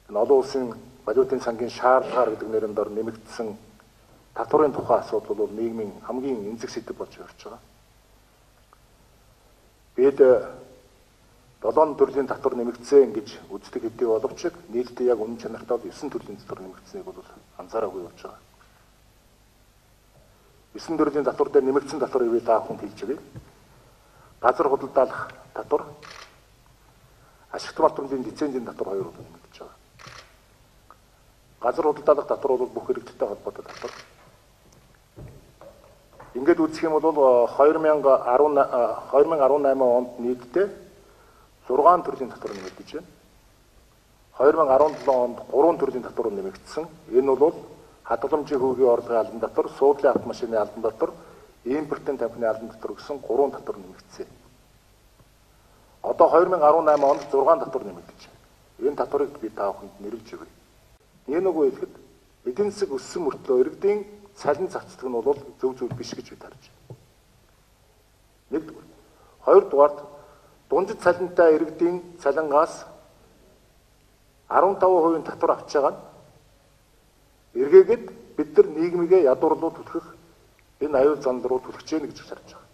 энэ олон улсын валютын сангийн шаардлагаар гэдэг нэрээр дор нэмэгдсэн татварын тухай асуудал бол нийгмийн хамгийн эмзэг сэдэв болж явж байгаа. Бид 7 төрлийн татвар нэмэгдсэн гэж үздэг хэдий боловч нийтдээ яг үнэн чанартай 9 төрлийн татвар нэмэгдсэнийг бол анзаараагүй явж байгаа. 9 төрлийн татвар дээр нэмэгдсэн татвар ивэ та бүхэнд хэлж өгье. Газар худалдаалах татвар, ашигт малбарын лицензийн татвар 2 нэмэгдэж байгаа. Газар худалдаалах татвар бол бүх хэрэгттэй холбоотой татвар. Ингээд үзэх юм бол 2018 онд нийтдээ 6 төрлийн татвар нэмэгдэж байна. 2017 онд 3 төрлийн татвар нэмэгдсэн. Энэ бол хадгаламжийн хөвгийн орлогын албан татвар, суудлын автомашины албан татвар, импортын тамхины албан татвар гэсэн 3 татвар нэмэгдсэн. Одоо 2018 онд 6 татвар нэмэгдэж байна. Энэ татварыг би та бүхэнд нэрлэж өгье. Энэ нөгөө хэлэхэд эдийн засаг өссөн мөртлөө иргэдийн цалин цацдаг нь бол зөв зөв биш гэж бид харж байна. Нэгдүгээр. Хоёрдугаард дундад цалинтай иргэдийн цалингаас 15% татвар авч байгаа нь эргээгээд бид нар нийгмигээ ядуурлуу түлхэх энэ аюул занал руу түлхэж яах гэж харж байгаа.